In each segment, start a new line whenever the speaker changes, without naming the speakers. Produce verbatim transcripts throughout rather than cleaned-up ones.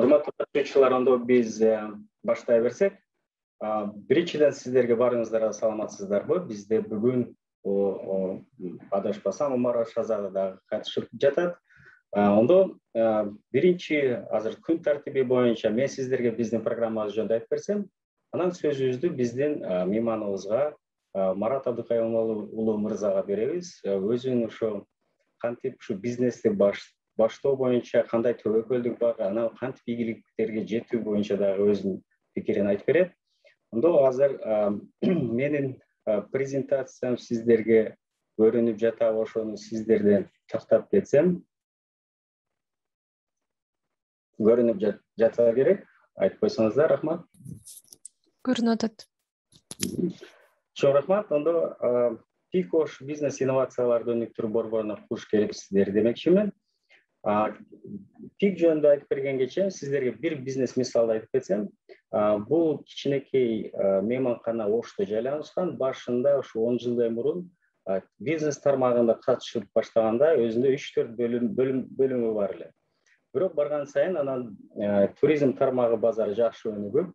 Урматтуу катышуучулар, ондо биз баштай берсек. Биринчиден сиздерге баарыңыздарга саламатсыздарбы? Бизде бүгүн адашпасам Умар Шазада дагы катышып жатат. Ондо биринчи азыр күн тартиби боюнча мен сиздерге биздин программабыз жөнүндө айтып берсем, анан сөзүбүздү биздин мейманыбызга Марат Абдыкай уулу мырзага беребиз. Өзүнүн ошо кантип ушу бизнести баштоо боюнча кандай төбөкөлдүк бар, анан кантип ийгиликтерге жетүү боюнча дагы өзүнүн пикирин айтып берет. Ондо азыр менин презентациям сиздерге көрүнүп жатабы, ошону сиздерден тактап кетсем. Көрүнүп жатса керек. Айтып койсоңуздар, рахмат.
Көрүнүп атат.
Чоң рахмат. Ондо Пикош бизнес инновацияларды өнүктүрүү борборуна куш келипсиздер демекчимин. Пик жөнүндө айтып бергенгече сиздерге бир бизнес мисалды айтып кетсем, бул кичинекей мейманкана Ошто жайланышкан. Башында ушу он жылдай мурун бизнес тармагында катышып баштаганда өзүндө үч төрт бөлүмү бар эле. Бирок барган сайын анан туризм тармагы базары жакшы өнүгүп,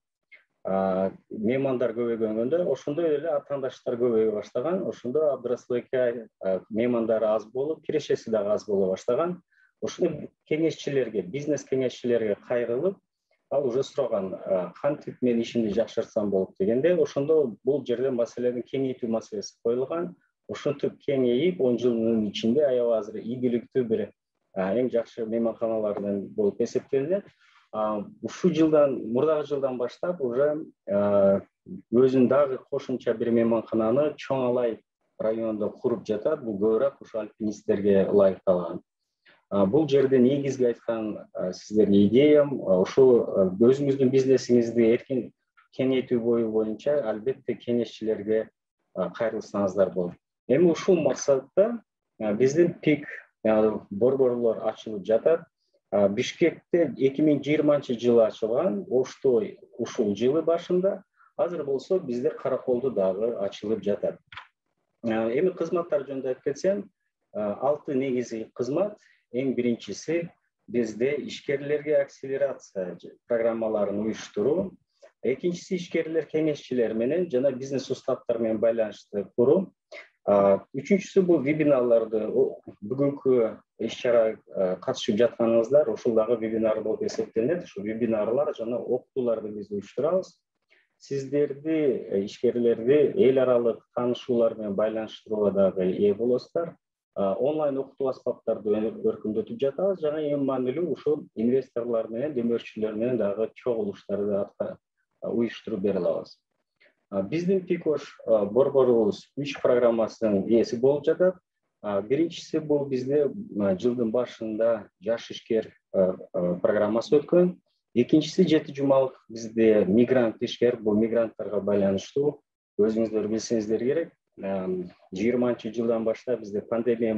меймандар көбөйгөндө ошондой эле атаандаштар көбөйө баштаган. Ошондо Абдырасулбекке меймандары аз болуп, кирешеси дагы аз боло баштаган. Ошондо кеңешчилерге, бизнес кеңешчилерге кайрылып, ал уже сураган, кантип мен ишимди жакшыртсам болот дегенде, ошондо бул жерде маселени кеңейтүү маселеси коюлган. Ошентип кеңейип, он жылдын ичинде аябай азыр ийгиликтүү бир эң жакшы мейманканалардан болуп эсептелинет. Ушул жылдан, мурдагы жылдан баштап уже өзүнүн дагы кошумча бир мейманкананы Чоң Алай районунда куруп жатат. Бул көбүрөөк ушу альпинисттерге ылайыкталган. Бул жерде негизги айткан сиздерге идеям ушул өзүңүздүн бизнесиңизди эркин кеңейтүү бою боюнча албетте кеңешчилерге кайрылсаңыздар болот. Эми ушул максатта биздин Пик борборлор ачылып жатат. Бишкекте эки миң жыйырманчы жылы ачылган, Ошто ушул жылы башында, азыр болсо бизде Караколдо дагы ачылып жатат. Эми кызматтар жөнүндө айтып кетсем, алты негизги кызмат. Эң биринчиси бизде ишкерлерге акселерация программаларын уюштуруу. Экинчиси ишкерлер кеңешчилер менен жана бизнес устаттар менен байланышты куруу. Үчүнчүсү бул вебинарларды, бүгүнкү иш-чара катышып жатканыңыздар ушул дагы вебинар болуп эсептелинет. Ушу вебинарлар жана окутууларды биз уюштурабыз. Сиздерди, ишкерлерди эл аралык таанышуулар менен байланыштырууга дагы ээ болосуздар. Онлайн окутуу аспаптарды өркүндөтүп жатабыз. Жана эң маанилүү ушул инвесторлор менен, демөөрчүлөр менен дагы чогулуштарды уюштуруп бере алабыз. Биздин Пикош борборубуз үч программасынын ээси болуп жатат. Биринчиси бул бизде жылдын башында жаш ишкер программасы өткөн. Экинчиси жети жумалык бизде мигрант ишкер, бул мигранттарга байланыштуу. Өзүңүздөр билсеңиздер керек. жыйырманчы жылдан баштап бизде пандемия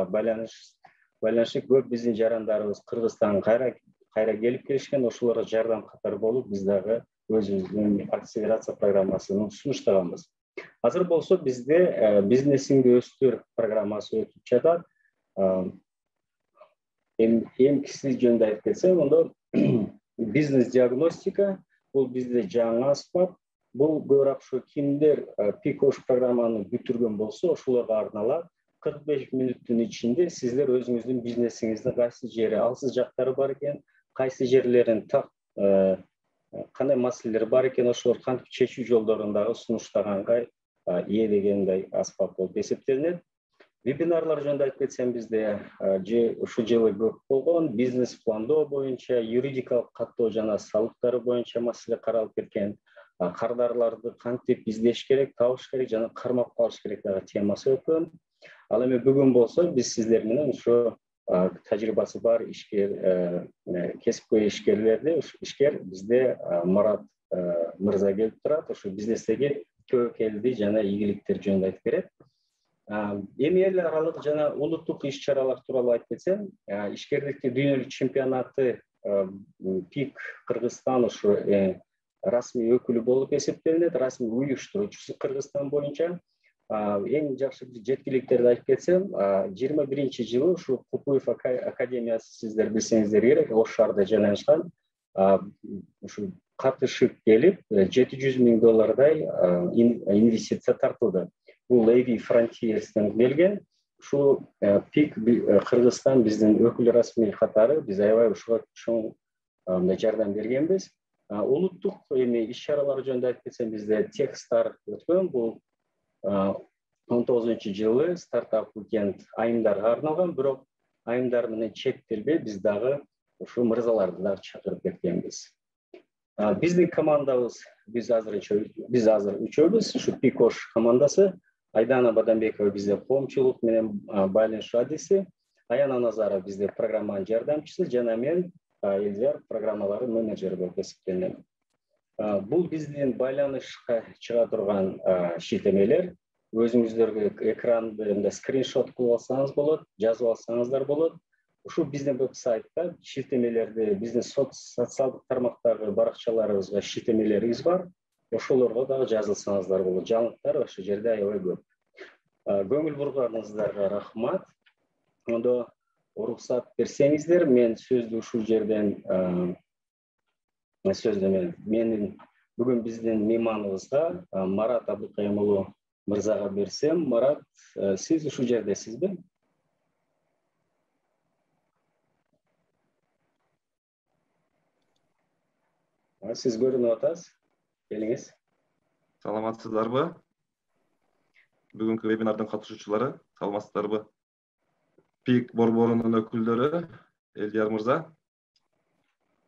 байланышы көп биздин жарандарыбыз Кыргызстанга кайра кайра келип келишкен. Ошолорго жардам катары болуп, биз дагы өзүбүздүн акселерация программасын сунуштаганбыз. Азыр болсо бизде бизнесиңди өстүр программасы өтүп жатат. Эмкиси жөнүндө айтып кетсем, ондо бизнес диагностика, бул бизде жаңы аспап. Бул көбүрөөк ушу кимдер Пикош программаны бүтүргөн болсо, ошолорго арналат. кырк беш мүнөттүн ичинде сиздер өзүңүздүн бизнесиңиздин кайсы жери алсыз жактары бар экен, кайсы жерлерин так кандай маселелер бар экен, ошолор кантип чечүү жолдорун дагы сунуштаганга ээ дегендей аспап болуп эсептелинет. Вебинарлар жөнүндө айтып кетсем, бизде ушул жылы көп болгон. Бизнес пландоо боюнча, юридикалык каттоо жана салыктары боюнча маселе каралып кеткен. Кардарларды кантип издеш керек, табыш керек жана кармап калыш керек дагы темасы өткөн. Ал эми бүгүн болсо биз сиздер менен ушу тажрыйбасы бар ишкер, кесипкөй ишкерлерди, ишкер бизде Марат мырза келип турат, ушу бизнестеги төбөкелди жана ийгиликтер жөнүндө айтып берет. Эми эл аралык жана улуттук иш-чаралар тууралуу айтып кетсем, ишкерликтин дүйнөлүк чемпионаты Пик Кыргызстан ушу расмий өкүлү болуп эсептелинет, расмий уюштуруучусу Кыргызстан боюнча. Эң жакшы жеткиликтерди айтып кетсем, жыйырма биринчи жылы ушу Купуев академиясы сиздер билсеңиздер керек, Ош шаарында жайланышкан. ушу катышып келип жети жүз миң доллардай инвестиция тартылды. Бул A V Frontiers'тен келген. Ушул пик Кыргызстан биздин өкүл расмий катары, биз аябай ушуга чоң мындай жардам бергенбиз. Улуттук эми иш-чаралар жөнүндө айтып кетсем, бизде Techstar өткөн. Бул он тогузунчу жылы стартап уикенд айымдарга арналган, бирок айымдар менен чектелбей, биз дагы ушу мырзаларды дагы чакырып кеткенбиз. Биздин командабыз, биз азыр биз азыр үчөөбүз, ушу Пикош командасы. Айдана Бадамбекова бизде коомчулук менен байланыш адиси, Аяна Назарова бизде программанын жардамчысы, жана мен Элдияр программалары менеджери болуп эсептелем. Бул биздин байланышка чыга турган шилтемелер. Өзүңүздөргө экранды скриншот кылып алсаңыз болот, жазып алсаңыздар болот. Ушу биздин веб-сайтта шилтемелерди, биздин социалдык тармактагы баракчаларыбызга шилтемелерибиз бар. Ошолорго дагы жазылсаңыздар болот. Жаңылыктар ошол жерде аябай көп. Көңүл бурганыңыздарга рахмат. Ондо уруксат берсеңиздер, мен сөздү ушул жерден сөздү мен менин бүгүн биздин мейманыбызга Марат Абдыкайым уулу мырзага берсем. Марат, сиз ушул жердесизби? Сиз көрүнүп атасыз. Келиңиз.
Саламатсыздарбы? Бүгүнкү вебинардын катышуучулары, саламатсыздарбы? Пик борборунун өкүлдөрү, Элдияр мырза,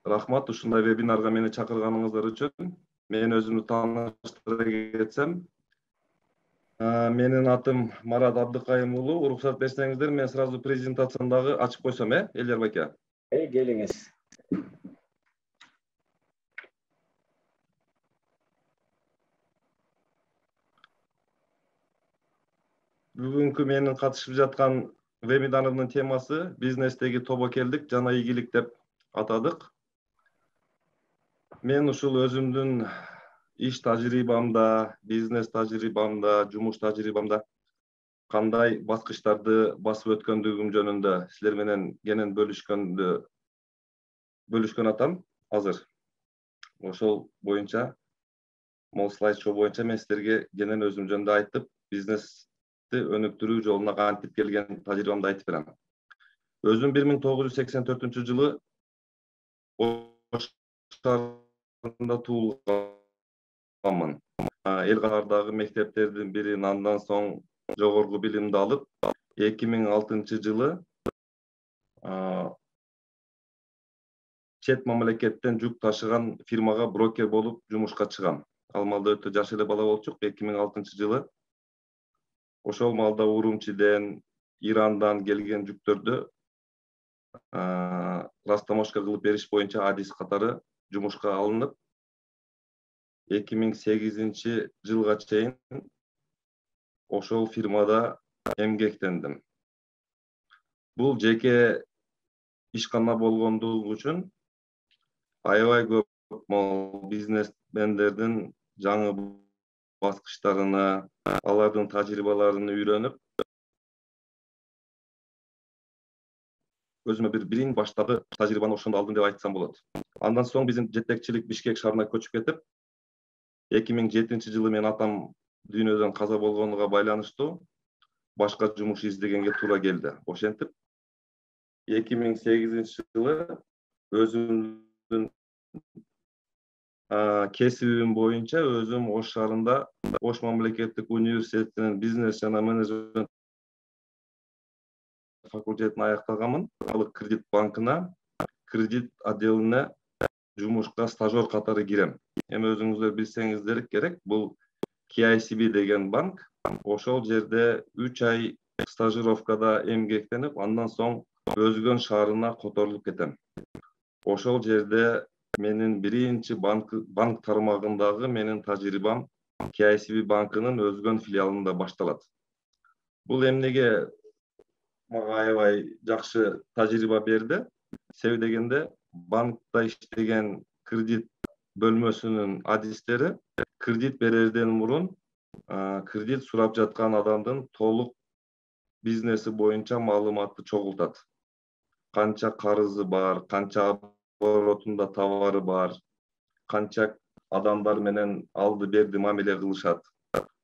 рахмат ушундай вебинарга мени чакырганыңыздар үчүн. Мен өзүмдү тааныштыра кетсем, менин атым Марат Абдыкайым уулу. Уруксат берсеңиздер, мен сразу презентациямды дагы ачып койсом, э, Элдияр байке?
Эй, келиңиз.
Бүгүнкү менин катышып жаткан вебинарымдын темасы бизнестеги тобокелдик жана ийгилик деп атадык. Мен ушул өзүмдүн иш тажрыйбамда, бизнес тажрыйбамда, жумуш тажрыйбамда кандай баскычтарды басып өткөндүгүм жөнүндө силер менен кенен бөлүшкөндү бөлүшкөн атам азыр. Ошол боюнча, могу слайд-шоу боюнча мен силерге кенен өзүм жөнүндө айтып, бизнес өнүктүрүү жолуна кантип келген тажрыйбамды айтып берем. Өзүм бир миң тогуз жүз сексен төртүнчү жылы Ош шаарында туулганмын. Эл катардагы мектептердин бирин, андан соң жогорку билимди алып, эки миң алтынчы жылы чет мамлекеттен жүк ташыган фирмага брокер болуп жумушка чыгам. Ал маалда өтө жаш эле бала болчук, эки миң алтынчы жылы. Ошол маалда Урумчиден, Ирандан келген жүктөрдү растаможка кылып бериш боюнча адис катары жумушка алынып, эки миң сегизинчи жылга чейин ошол фирмада эмгектендим. Бул жеке ишкана болгондугу үчүн аябай көп бизнесмендердин жаңы баскычтарына, алардын тажрыйбаларын үйрөнүп, өзүмө бир бирин баштагы тажрыйбаны ошондо алдым деп айтсам болот. Андан соң биздин жетекчилик Бишкек шаарына көчүп кетип, эки миң жетинчи жылы мен атам дүйнөдөн каза болгонуга байланыштуу башка жумуш издегенге туура келди. Ошентип, эки миң сегизинчи жылы өзүмдүн кесибим боюнча өзүм Ош шаарында Ош мамлекеттик университетинин бизнес жана менеджмент факультетин аяктаганмын. Алык кредит банкына, кредит отделине жумушка стажер катары кирем. Эми өзүңүздөр билсеңиздер керек, бул K I C B деген банк. Ошол жерде үч ай стажировкада эмгектенип, андан соң Өзгөн шаарына которулуп кетем. Ошол жерде менин биринчи банк банк тармагындагы менин тажрыйбам K I C B банкынын Өзгөн филиалында башталат. Бул эмнеге мага аябай жакшы тажрыйба берди? Себеби дегенде, банкта иштеген кредит бөлмөсүнүн адистери кредит берерден мурун кредит сурап жаткан адамдын толук бизнеси боюнча маалыматты чогултат. Канча карызы бар, канча оборотунда товары бар, канча адамдар менен алды берди мамиле кылышат.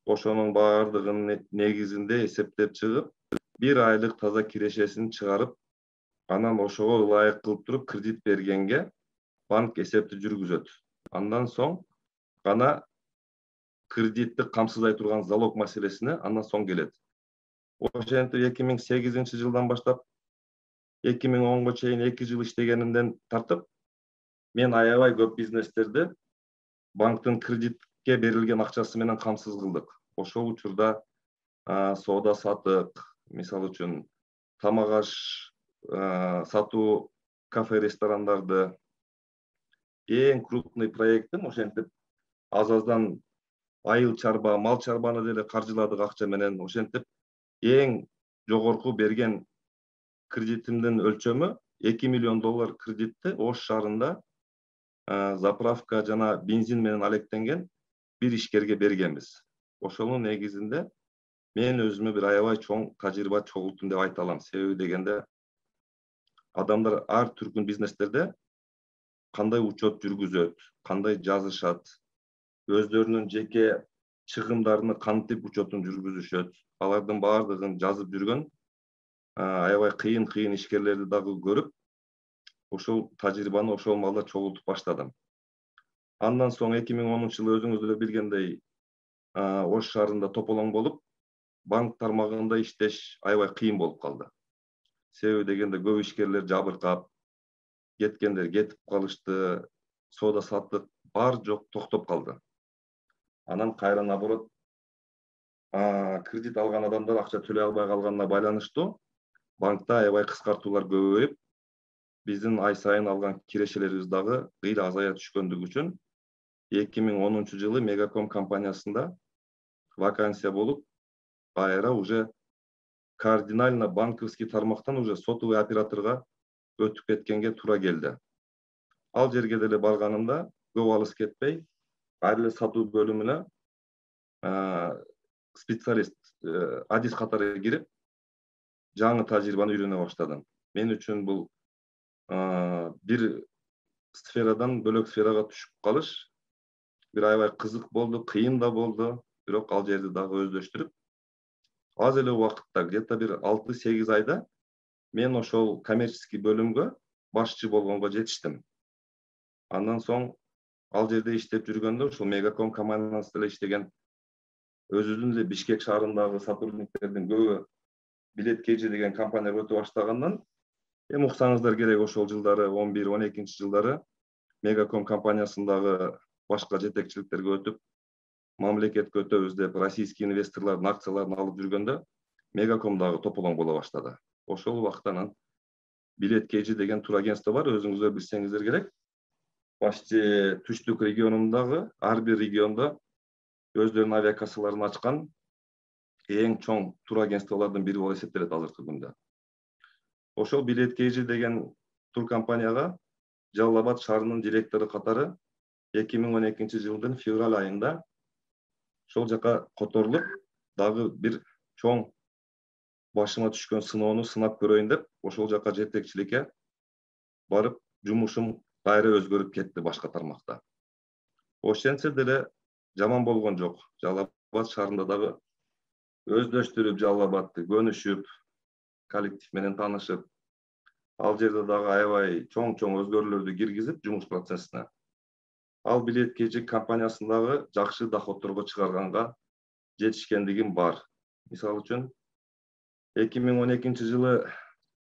Ошонун баардыгынын негизинде эсептеп чыгып, бир айлык таза кирешесин чыгарып, анан ошого ылайык кылып туруп кредит бергенге банк эсепти жүргүзөт. Андан соң гана кредитти камсыздай турган залог маселесине андан соң келет. Ошентип эки миң сегизинчи жылдан баштап эки миң онго чейин эки жыл иштегенимден тартып, мен аябай көп бизнестерди банктын кредитке берилген акчасы менен камсыз кылдык. Ошол учурда соода саттык, мисалы үчүн тамак аш сатуу, кафе, ресторандарды, эң крупный проектим ошентип аз-аздан айыл чарба, мал чарбаны деле каржыладык акча менен. Ошентип эң жогорку берген кредитимдин өлчөмү эки миллион доллар кредитти Ош шаарында заправка жана бензин менен алектенген бир ишкерге бергенбиз. Ошонун негизинде мен өзүмө бир аябай чоң тажрыйба чогулттум деп айта алам. Себеби дегенде адамдар ар түркүн бизнестерде кандай учет жүргүзөт, кандай жазышат, өздөрүнүн жеке чыгымдарыны кантип учетун жүргүзүшөт, алардын баардыгын жазып жүргөн аябай кыйын-кыйын ишкерлерди дагы көрүп, ошол тажрыйбаны ошол маалда чогултуп баштадым. Андан соң эки миң онунчу жылы өзүңүз деле билгендей Ош шаарында тополоң болуп, банк тармагында иштеш аябай кыйын болуп калды. Себеби дегенде көп ишкерлер жабыркап, кеткендер кетип калышты, соода саттык бар жок токтоп калды. Анан кайра наоборот кредит алган адамдар акча төлөй албай калганына байланыштуу банкта аябай кыскартуулар көбөйүп, биздин ай сайын алган кирешелерибиз дагы кыйла азая түшкөндүгү үчүн эки миң онунчу жылы Мегаком компаниясында вакансия болуп, кайра уже кардинально банковский тармактан уже сотовый операторго өтүп кеткенге туура келди. Ал жерге деле барганымда көп алыс кетпей, ар эле сатуу бөлүмүнө специалист, адис катары кирип, жаңы тажрыйбаны үйрөнө баштадым. Мен үчүн бул бир сферадан бөлөк сферага түшүп калыш бир аябай кызык болду, кыйын да болду, бирок ал жерди дагы өздөштүрүп, аз эле убакытта, где-то бир алты сегиз айда мен ошол коммерческий бөлүмгө башчы болгонго жетиштим. Андан соң ал жерде иштеп жүргөндө ошол Мегаком компаниясында эле иштеген өзүбүздүн эле Бишкек шаарындагы сотрудниктердин көбү Билет кей джи деген компанияга өтө баштагандан, эми уксаңыздар керек ошол жылдары он бир он экинчи жылдары Мегаком компаниясындагы башка жетекчиликтерге өтүп, мамлекетке өтөбүз деп российский инвесторлордун акцияларын алып жүргөндө Мегаком дагы тополоң боло баштады. Ошол убактан Билет кей джи деген турагентство бар, өзүңүздөр билсеңиздер керек. Почти түштүк регионундагы ар бир региондо өздөрүнүн авиакассаларын ачкан эң чоң турагентстволордун бири болуп эсептелет азыркы күндө. Ошол Билет кей джи деген туркомпанияга Жалал Абад шаарынын директору катары эки миң он экинчи жылдын февраль айында ошол жака которулуп, дагы бир чоң башыма түшкөн сыноону сынап көрөйүн деп, ошол жака жетекчиликке барып, жумушум кайра өзгөрүп кетти башка тармакта. Ошентсе деле жаман болгон жок. Жалал Абад шаарында дагы өздөштүрүп, Жалал Абадты көнүшүп, коллектив менен таанышып, ал жерде дагы аябай чоң-чоң өзгөрүүлөрдү киргизип жумуш процессине. Ал Билет кей джи компаниясындагы жакшы доходторго чыгарганга жетишкендигим бар. Мисалы үчүн, эки миң он экинчи жылы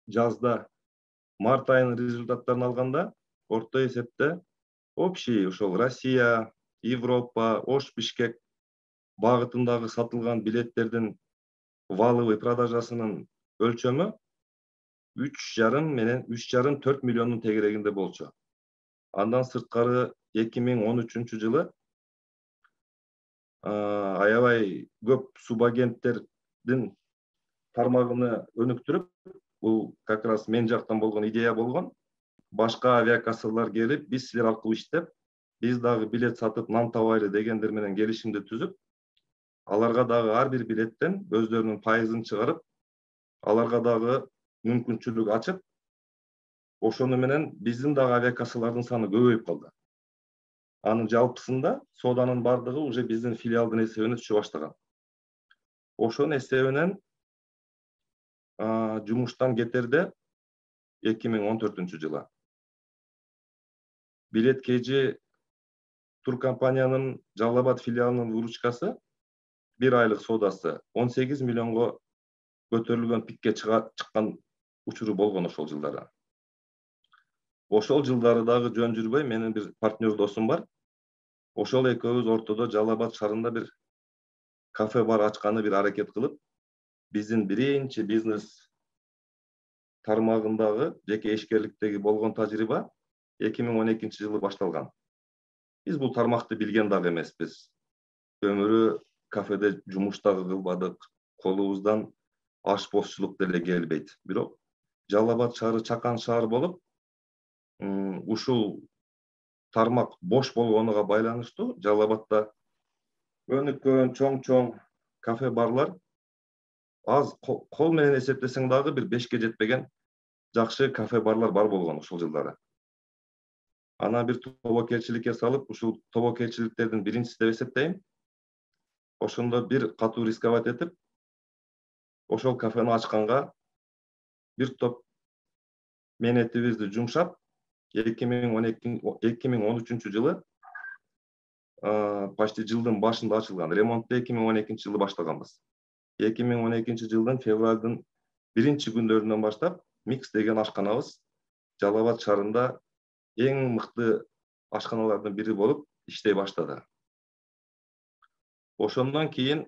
жазда март айынын результаттарын алганда, орто эсепте общий ошол Россия, Европа, Ош, Бишкек багытындагы сатылган билеттердин валовый продажасынын өлчөмү үч жарым менен үч жарым төрт миллиондун тегерегинде болчу. Андан сырткары эки миң он үчүнчү жылы аябай көп субагенттердин тармагыны өнүктүрүп, бул как раз мен жактан болгон идея болгон. Башка авиакассалар келип, биз силер аркылуу иштеп, биз дагы билет сатып нан табайлы дегендер менен келишимди түзүп, аларга дагы ар бир билеттен өздөрүнүн пайызын чыгарып, аларга дагы мүмкүнчүлүк ачып, ошону менен биздин дагы авиакассалардын саны көбөйүп калды. Анын жалпысында сооданын бардыгы уже биздин филиалдын эсебине түшө баштаган. Ошонун эсебинен жумуштан кетерде эки миң он төртүнчү жылы Билет Кж туркомпаниянын Жалал Абад филиалынын выручкасы бир айлык соодасы он сегиз миллионго көтөрүлгөн пикке чыккан учуру болгон ошол жылдары. Ошол жылдары дагы жөн жүрбөй, менин бир партнер досум бар. Ошол экөөбүз ортодо Жалал Абад шаарында бир кафе бар ачканы бир аракет кылып, биздин биринчи бизнес тармагындагы жеке ишкерликтеги болгон тажрыйба эки миң он экинчи жылы башталган. Биз бул тармакты билген дагы эмеспиз. Өмүрү кафеде жумуш дагы кылбадык, колубуздан ашпозчулук деле келбейт. Бирок Жалал Абад шаары чакан шаар болуп, ушул тармак бош болгонуга байланыштуу Жалал Абадда өнүккөн чоң-чоң кафе барлар аз, кол менен эсептесең дагы бир бешке жетпеген жакшы кафе барлар бар болгон ошол жылдары. Ана бир тобокелчиликке салып, ушул тобокелчиликтердин биринчиси деп эсептейм. Ошондо бир катуу рисковать этип, ошол кафени ачканга бир топ менетибизди жумшап, эки миң он үчүнчү жылы почти жылдын башында ачылган. Ремонтты эки миң он экинчи жылы баштаганбыз. эки миң он экинчи жылдын февралдын биринчи күндөрүнөн баштап Микс деген ашканабыз Жалал Абад шаарында эң мыкты ашканалардын бири болуп иштей баштады. Ошондон кийин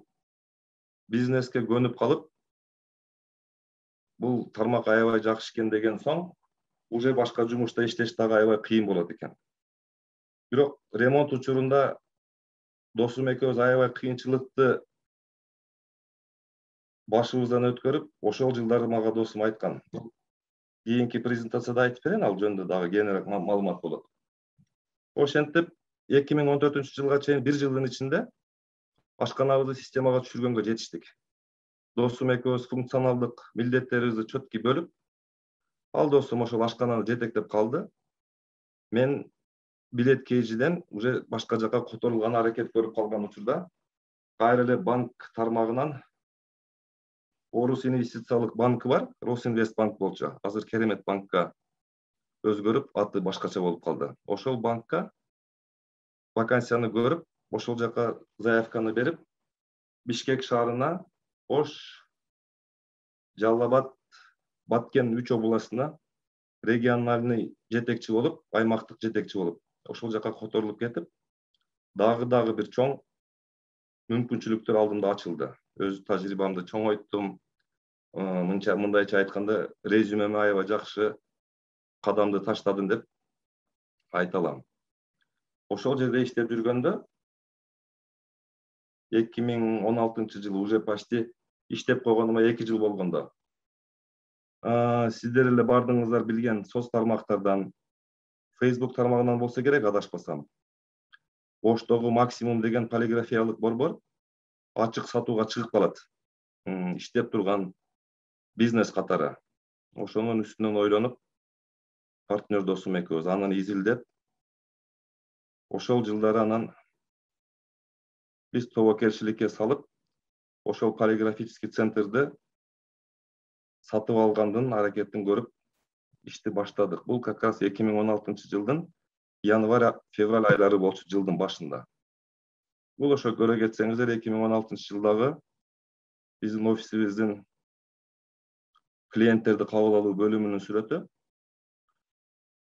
бизнеске көнүп калып, бул тармак аябай жакшы экен деген соң, уже башка жумушта иштеш дагы аябай кыйын болот экен. Бирок ремонт учурунда досум экөөбүз аябай кыйынчылыкты башыбыздан өткөрүп, ошол жылдары мага досум айткан. Кийинки презентацияда айтып берейин, ал жөнүндө дагы кеңирээк маалымат болот. Ошентип эки миң он төртүнчү жылга чейин бир жылдын ичинде ашканабызды системага түшүргөнгө жетиштик. Досум экөөбүз функционалдык милдеттерибизди чөткү бөлүп, ал досум ошол ашкананы жетектеп калды. Мен Билет Kg'ден уже башка жака которулган аракет көрүп калган учурда кайра эле банк тармагынан Орус инвестициялык банкы бар, Росинвестбанк болчу. Азыр Керемет банкка өзгөрүп, аты башкача болуп калды. Ошол банкка вакансияны көрүп, ошол жака заявканы берип, Бишкек шаарына Ош, Жалал Абад, Баткен үч областына региональный жетекчи болуп, аймактык жетекчи болуп, ошол жака которулуп кетип, дагы-дагы бир чоң мүмкүнчүлүктөр алдымда ачылды. Өз тажрыйбамды чоңойттум. Мынча мындайча айтканда, резюмеме аябай жакшы кадамды таштадым деп айта алам. Ошол жерде иштеп жүргөндө эки миң он алтынчы жылы уже почти иштеп койгонума эки жыл болгондо сиздер эле бардыгыңыздар билген соц тармактардан, Facebook тармагынан болсо керек, адашпасам, Оштогу Максимум деген полиграфиялык борбор ачык сатууга чыгып калат. Иштеп турган бизнес катары. Ошонун үстүнөн ойлонуп, партнер досум экөөбүз анын изилдеп, ошол жылдары анан биз тобокелчиликке салып, ошол полиграфический центрди сатып алгандын аракетин көрүп, ишти баштадык. Бул как раз эки миң он алтынчы жылдын январь-февраль айлары болчу, жылдын башында. Бул ошо көрө кетсеңиздер, эки миң он алтынчы жылдагы биздин офисибиздин клиенттерди кабыл алуу бөлүмүнүн сүрөтү.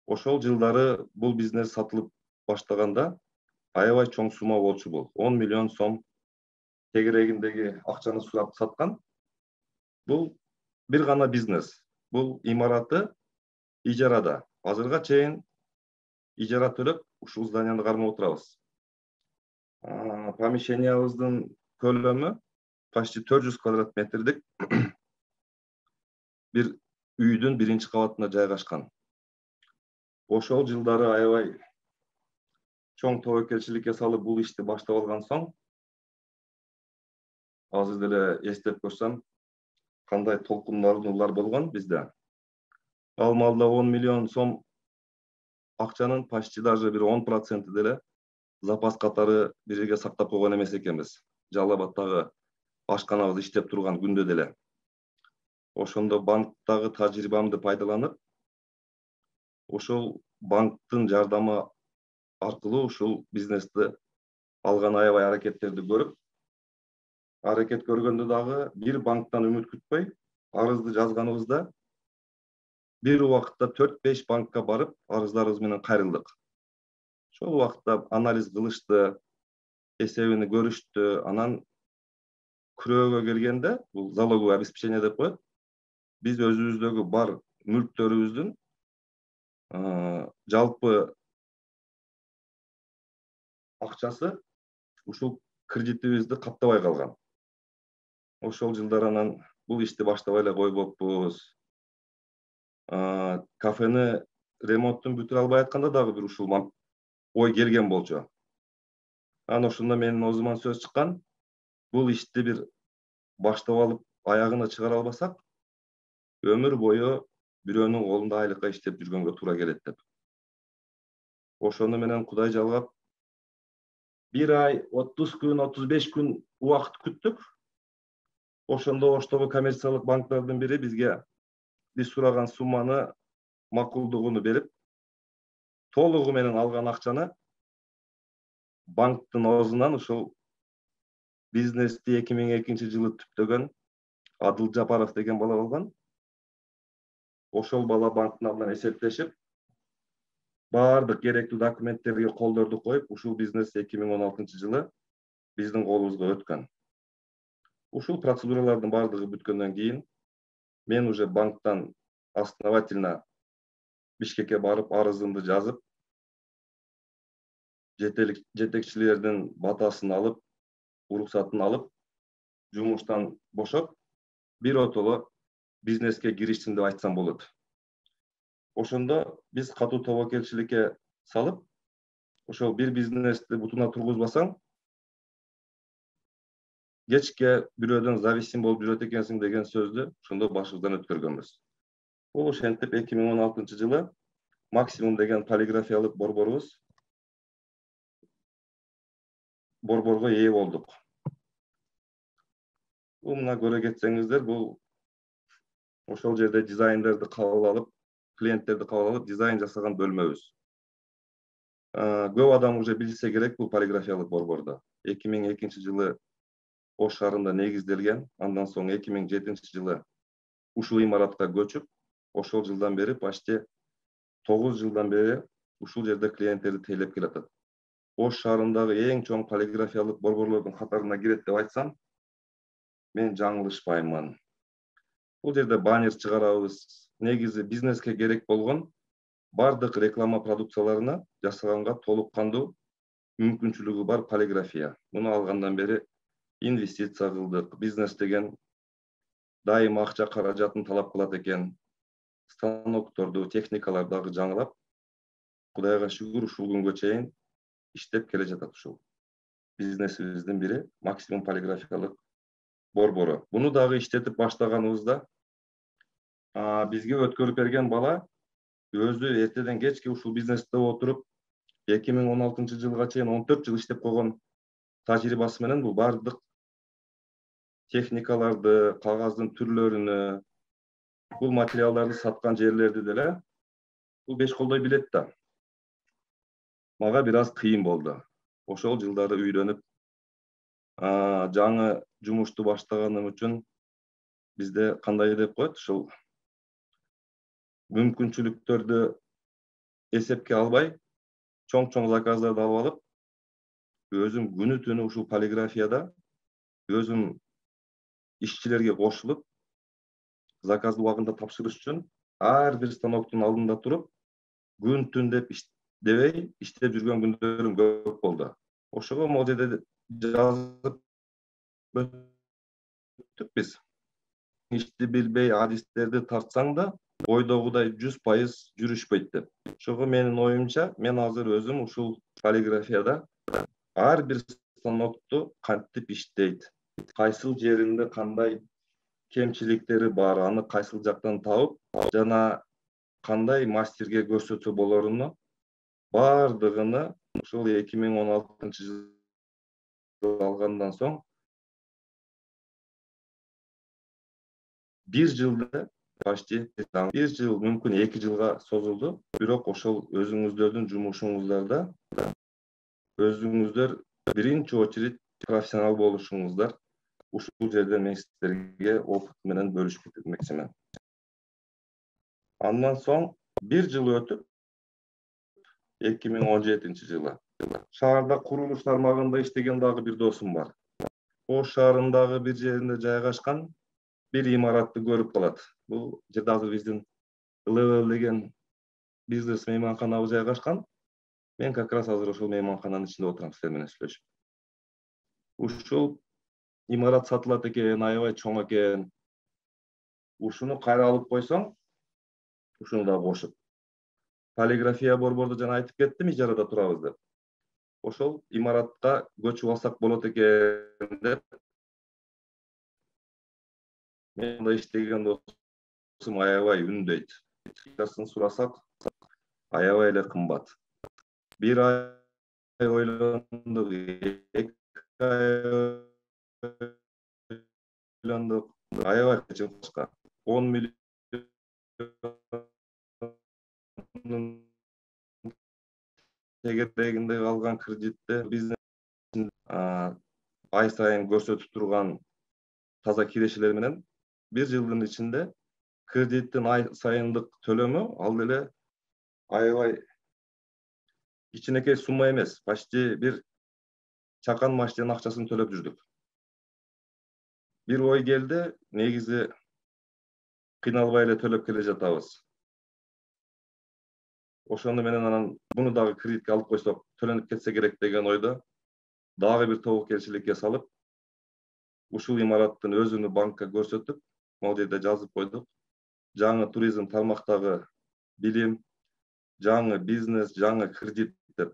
Ошол жылдары бул бизнес сатылып баштаганда аябай чоң сумма болчу бул. он миллион сом тегерегиндеги акчаны сурап саткан. Бул бир гана бизнес. Бул имараты ижарада. Азырга чейин ижара төлөп, ушул зданияны кармап отурабыз. Помещениябыздын көлөмү почти төрт жүз квадрат метрдик бир үйдүн биринчи кабатында жайгашкан. Ошол жылдары аябай чоң тобокелчиликке салып бул ишти баштап алган соң, азыр деле эстеп көрсөм, кандай толкундарлуулар болгон бизде. ал маалда он миллион сом акчанын почти даже бир он проценти деле запас катары бир жерге сактап койгон эмес экенбиз. Жалал Абадтагы ашканабыз иштеп турган күндө деле. Ошондо банктагы тажрыйбамды пайдаланып, ошол банктын жардамы аркылуу ушул бизнести алган аябай аракеттерди көрүп, аракет көргөндө дагы бир банктан үмүт күтпөй, арызды жазганыбызда бир убакытта төрт беш банкка барып, арыздарыбыз менен кайрылдык. Ошол убакытта анализ кылышты, эсебини көрүштү, анан күрөөгө келгенде, бул залоговое обеспечение деп коет. Биз өзүбүздөгү бар мүлктөрүбүздүн жалпы акчасы ушул кредитибизди каптабай калган. Ошол жылдар анан бул ишти баштабай эле койбоппуз. Кафени ремонтун бүтүрө албай атканда дагы бир ушул ой келген болчу. Анан ошондо менин оозуман сөз чыккан, бул ишти бир баштап алып аягына чыгара албасак, өмүр бою бирөөнүн колунда айлыкка иштеп жүргөнгө туура келет деп. Ошону менен Кудай жалгап, бир ай, отуз күн, отуз беш күн убакыт күттүк. Ошондо Оштогу коммерциялык банктардын бири бизге биз сураган сумманы макулдугуну берип, толугу менен алган акчаны банктын оозунан ушул бизнести эки миң экинчи жылы түптөгөн Адыл Жапаров деген бала болгон. Ошол бала банктын алдынан эсептешип, баардык керектүү документтерге колдорду коюп, ушул бизнес эки миң он алтынчы жылы биздин колубузга өткөн. Ушул процедуралардын баардыгы бүткөндөн кийин мен уже банктан основательно Бишкекке барып арызымды жазып, жетекчилердин батасын алып, уруксатын алып, жумуштан бошоп, биротоло бизнеске кириштим деп айтсам болот. Ошондо биз катуу тобокелчиликке салып, ошол бир бизнести бутуна тургузбасаң, кечке бирөөдөн зависим болуп жүрөт экенсиң деген сөздү ошондо башыбыздан өткөргөнбүз. Бул ошентип эки миң он алтынчы жылы максимум деген полиграфиялык борборубуз борборго ээ болдук. Бул мына көрө кетсеңиздер, бул ошол жерде дизайндерди кабыл алып, клиенттерди кабыл алып, дизайн жасаган бөлмөбүз. Көп адам уже билсе керек бул полиграфиялык борборду. эки миң экинчи жылы Ош шаарында негизделген, андан соң эки миң жетинчи жылы ушул имаратка көчүп, ошол жылдан бери почти тогуз жылдан бери ушул жерде клиенттерди тейлеп келатат. Ош шаарындагы эң чоң полиграфиялык борборлордун катарына кирет деп айтсам, мен жаңылышпаймын. Бул жерде баннер чыгарабыз. Негизи бизнеске керек болгон бардык реклама продукцияларына жасаганга толук кандуу мүмкүнчүлүгү бар полиграфия. Муну алгандан бери инвестиция кылдык. Бизнес деген дайыма акча каражатын талап кылат экен. Станокторду, техникаларды дагы жаңылап, Кудайга шүгүр ушул күнгө чейин иштеп келе жатат ушул. Бизнесибиздин бири максимум полиграфиялык борбору. Буну дагы иштетип баштаганыбызда бизге өткөрүп берген бала өзү эртеден кечке ушул бизнесте отуруп, эки миң он алтынчы жылга чейин он төрт жыл иштеп койгон тажрыйбасы менен бул бардык техникаларды, кагаздын түрлөрүнө, бул материалдарды саткан жерлерди деле бул беш колдой билет да. Мага бир аз кыйын болду. Ошол жылдары үйрөнүп, жаңы жумушту баштаганым үчүн бизде кандай деп коет, ушул мүмкүнчүлүктөрдү эсепке албай, чоң-чоң заказдарды алып алып, өзүм күнү түнү ушул полиграфияда өзүм ишчилерге кошулуп, заказды убагында тапшырыш үчүн ар бир станоктун алдында туруп, күн түн деп дебей иштеп жүргөн күндөрүм көп болду. Ошого могу жерде жазып өттүк биз. Ишти билбей адистерди тартсаң да, ойдогудай жүз пайыз жүрүшпөйт деп. Ошого менин оюмча, мен азыр өзүм ушул полиграфияда ар бир станокту кантип иштейт, кайсыл жеринде кандай кемчиликтери бар, аны кайсыл жактан табып, жана кандай мастерге көрсөтсө болоруну бардыгыны ушул эки миң он алтынчы жылы алгандан соң бир жылда почти бир жыл, мүмкүн эки жылга созулду. Бирок ошол өзүңүздөрдүн жумушуңуздарда өзүңүздөр биринчи очередь профессионал болушуңуздар ушул жерде мен сиздерге опыт менен бөлүшүп кетмекчимин. Андан соң бир жыл өтүп эки миң он жетинчи жылы шаарда курулуш тармагында иштеген дагы бир досум бар. Ош шаарындагы бир жеринде жайгашкан бир имаратты көрүп калат. Бул жерде азыр биздин Level деген бизнес мейманканабыз жайгашкан. Мен как раз азыр ошол мейманкананын ичинде отурам силер менен сүйлөшүп. Ушул имарат сатылат экен, аябай чоң экен. Ушуну кайра алып койсоң, ушуну да кошуп. Полиграфия борборду жана айтып кеттим, ижарада турабыз деп. Ошол имаратка көчүп алсак болот экен деп мен да иштеген досум аябай үндөйт. Ачасын сурасак, аябай эле кымбат. Бир ай ойлондук, эки ай ойлондук, аябай чыкка. он миллион тегерегинде калган кредитте бизнес ай сайын көрсөтүп турган таза кирешелер менен бир жылдын ичинде кредиттин ай сайындык төлөмү ал деле аябай кичинекей сумма эмес, почти бир чакан машинанын акчасын төлөп жүрдүк. Бир ой келди, негизи кыйналбай эле төлөп келе жатабыз. Ошону менен анан буну дагы кредитке алып койсок, төлөнүп кетсе керек деген ойдо дагы бир тобокелчиликке салып, ушул имараттын өзүнү банкка көрсөтүп, могул жерде жазып койдук. Жаңы туризм тармактагы билим, жаңы бизнес, жаңы кредит деп.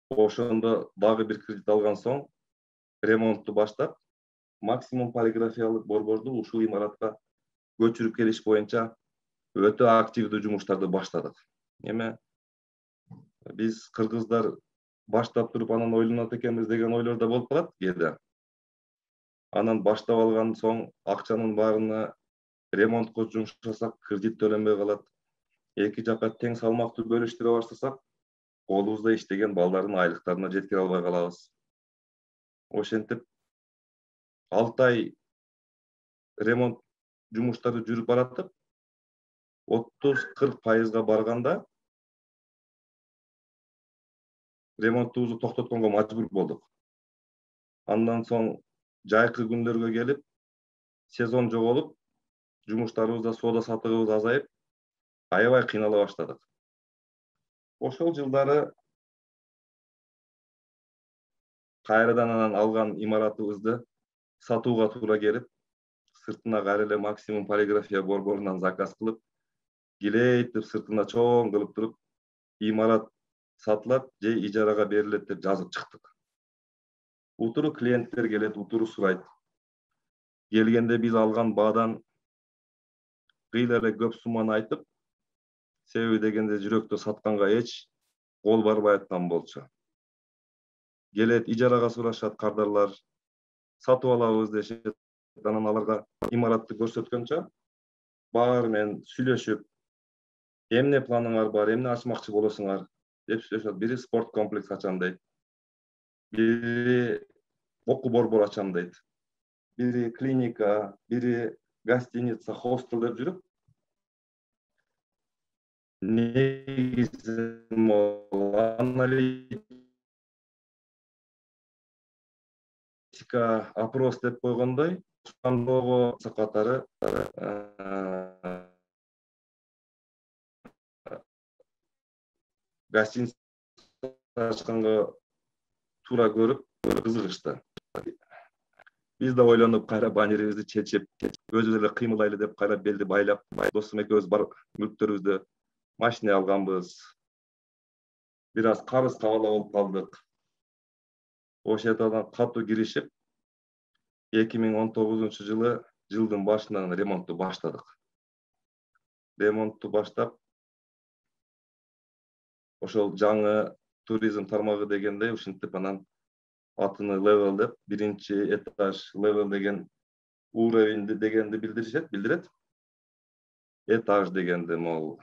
Ошондо дагы бир кредит алган соң, ремонтту баштап, максимум полиграфиялык борборду ушул имаратка көчүрүп келиш боюнча өтө активдүү жумуштарды баштадык. Эме биз кыргыздар баштап туруп анан ойлонот экенбиз деген ойлор да болуп калат кээде. Анан баштап алган соң акчанын баарына ремонтко жумшасак, кредит төлөнбөй калат. Эки жакка тең салмактуу бөлүштүрө баштасак, колубузда иштеген балдардын айлыктарына жеткире албай калабыз. Ошентип алты ай ремонт жумуштары жүрүп баратып, отуз кырк пайызга барганда ремонтубузду токтотконго мажбур болдук. Андан соң жайкы күндөргө келип, сезон жоголуп, жумуштарыбызда соода сатыгыбыз азайып, аябай кыйнала баштадык. Ошол жылдары кайрадан анан алган имаратыбызды сатууга туура келип, сыртына кайра эле максимум полиграфия борборунан заказ кылып, килейтип сыртына чоң кылып туруп, имарат сатылат же ижарага берилет деп жазып чыктык. Утуру клиенттер келет, утуру сурайт. Келгенде биз алган баадан кыйла эле көп сумманы айтып, себеби дегенде жүрөктө сатканга эч кол барбай аткан болчу. Келет, ижарага сурашат кардарлар, сатып алабыз дешет. Анан аларга имаратты көрсөткөнчө баары менен сүйлөшүп, эмне планыңар бар, эмне ачмакчы болосуңар деп сүйлөшөт. Бири спорт комплекс ачам дейт. Бири окуу борбор ачам дейт. Бири клиника, бири гостиница, хостел деп жүрүп, негизи аналитика, опрос деп койгондой, ошондогу катары гостиница ачканга туура көрүп, кызыгышты. Биз да ойлонуп, кайра баннерибизди чечип, өзүбүз эле кыймылдайлы деп кайра белди байлап, досум экөөбүз бар мүлктөрүбүздү машина алганбыз. Бир аз карыз кабала болуп калдык. Ошентип катуу киришип, эки миң он тогузунчу жылы жылдын башынан ремонтту баштадык. ремонтту баштап, ошол жаңы туризм тармагы дегендей ушинтип анан атыны level деп, биринчи этаж level деген уровень дегенди билдиришет, билдирет. Этаж дегенди могул.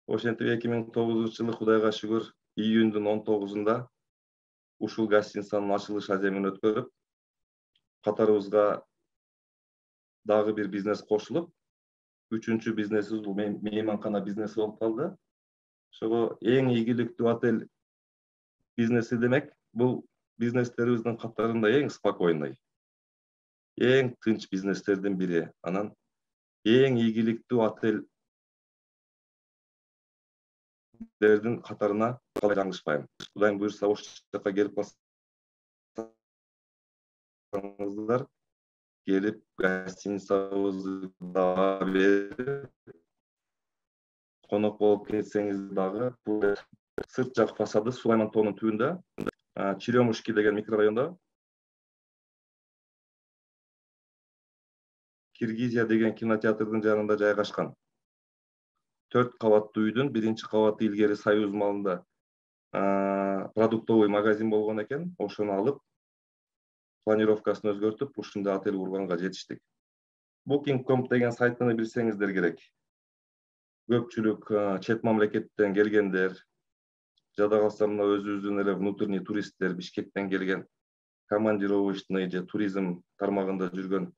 Ошентип эки миң тогузунчу жылы Кудайга шүгүр июндун он тогузунда ушул гостиницанын ачылыш аземин өткөрүп, катарыбызга дагы бир бизнес кошулуп, үчүнчү бизнесибиз бул мейманкана бизнеси болуп калды. Ошого эң ийгиликтүү отель бизнеси демек, бул бизнестерибиздин катарында эң спокойный, эң тынч бизнестердин бири. Анан эң ийгиликтүү отельдердин катарына калай жаңылышпайм. Кудайым буйрса ошол жака келип калсаңыздар, келип гостиницабызды дагы берип, конок болуп кетсеңиз дагы, бул сырт жак фасады Сулайман тоонун түбүндө, Черемушки деген микрорайондо, Киргизия деген кинотеатрдын жанында жайгашкан. Төрт кабаттуу үйдүн биринчи кабаты илгери Союз малында продуктовый магазин болгон экен. Ошону алып, планировкасын өзгөртүп, ушундай отель курганга жетиштик. Booking точка ком деген сайттаны билсеңиздер керек. Көпчүлүк чет мамлекеттен келгендер, жада калса мына өзүбүздүн эле внутренний туристтер, Бишкектен келген, командировочный же туризм тармагында жүргөн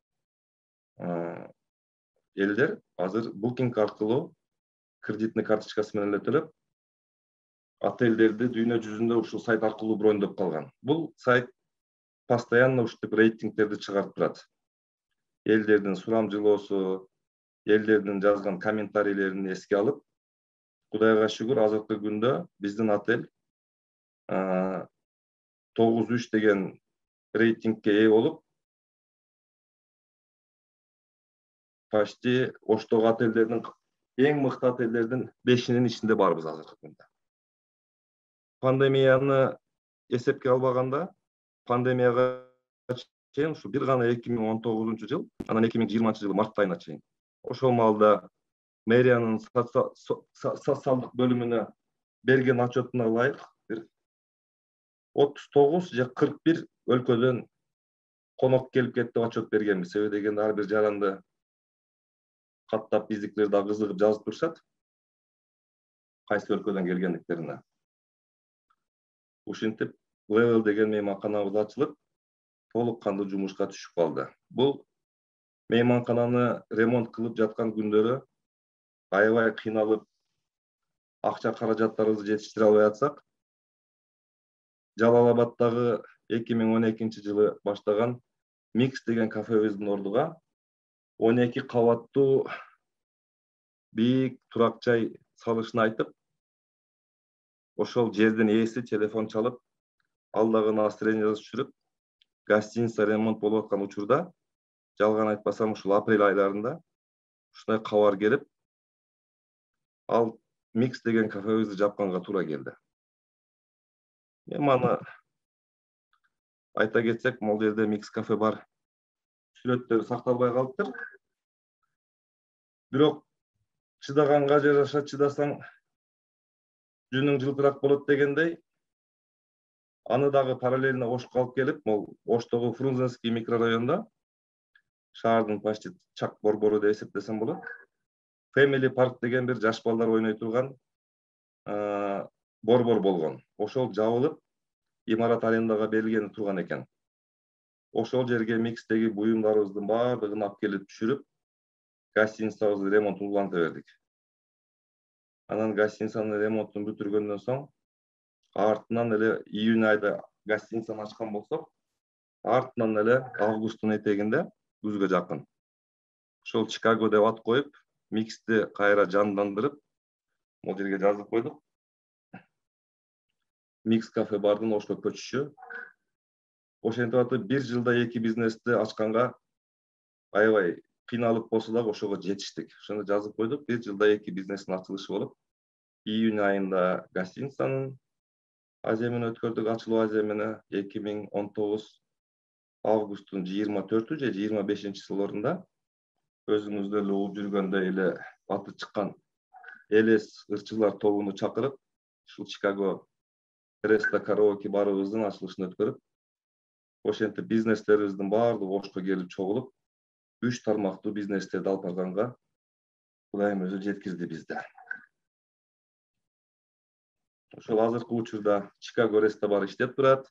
элдер азыр Booking аркылуу кредитный карточкасы менен эле төлөп, отельдерди дүйнө жүзүндө ушул сайт аркылуу брондоп калган. Бул сайт постоянно ушинтип рейтингтерди чыгарып турат. Элдердин сурамжылоосу, элдердин жазган комментарийлерин эске алып, Кудайга шүгүр азыркы күндө биздин отель тогуз үч деген рейтингке ээ болуп, почти оштогу отельдердин, эң мыкты отельдердин бешинин ичинде барбыз азыркы күндө. Пандемияны эсепке албаганда, пандемияга чейин ушу бир гана эки миң он тогузунчу жыл, анан эки миң жыйырманчы жылы март айына чейин. Ошол маалда мэриянын социалдык бөлүмүнө берген отчетуна ылайык отуз тогуз же кырк бир өлкөдөн конок келип кетти деп отчет бергенбиз. Себеби дегенде ар бир жаранды каттап биздикилер да кызыгып жазып турушат. Кайсы өлкөдөн келгендиктерине. Ушинтип Level деген мейманканабыз ачылып, толук кандуу жумушка түшүп калды. Бул мейманкананы ремонт кылып жаткан күндөрү аябай кыйналып, акча каражаттарыбызды жетиштире албай атсак, Жалал-Абаддагы эки миң он экинчи жылы баштаган Mix деген кафебиздин ордуга он эки кабаттуу бийик турак жай салышын айтып, ошол жердин ээси телефон чалып, ал дагы настроение түшүрүп, гостиница ремонт болуп аткан учурда, жалган айтпасам ушул апрель айларында ушундай кабар келип, ал Mix деген кафебизди жапканга туура келди. Эми аны айта кетсек, могул жерде Mix кафе бар. Сүрөттөр сакталбай калыптыр. Бирок чыдаганга жараша чыдасаң жүнүң жылтырак болот дегендей, аны дагы параллельно Ошко алып келип, могул Оштогу Фрунзенский микрорайонунда, шаардын почти чак борбору деп эсептесем болот. Family Park деген бир жаш балдар ойной турган борбор болгон. Ошол жабылып, имарат арендага берилгени турган экен. Ошол жерге Mixтеги буюмдарыбыздын баардыгын алып келип түшүрүп, гостиницабызды ремонтун уланта бердик. Анан гостиницанын ремонтун бүтүргөндөн соң, артынан эле июнь айда гостиницаны ачкан болсок, артынан эле августтун этегинде, күзгө жакын, ошол Чикаго деп ат коюп, Mixти кайра жандандырып, могул жерге жазып койдук. Mix кафе бардын Ошко көчүшү. Ошентип атып бир жылда эки бизнести ачканга аябай кыйналып болсо дагы ошого жетиштик. Ошондо жазып койдук, бир жылда эки бизнестин ачылышы болуп, июнь айында гостиницанын аземин өткөрдүк, ачылуу аземини эки миң он тогуз августтун жыйырма төртү же жыйырма бешинчи сылорунда өзүңүздөр эле угуп жүргөндөй эле аты чыккан элес ырчылар тобуну чакырып, ушул Чикаго Реста караоке барыбыздын ачылышын өткөрүп, ошентип бизнестерибиздин баардыгы Ошко келип чогулуп, үч тармактуу бизнестерди алып барганга Кудайым өзү жеткизди бизди. Ошол азыркы учурда Чикаго Реста бар иштеп турат.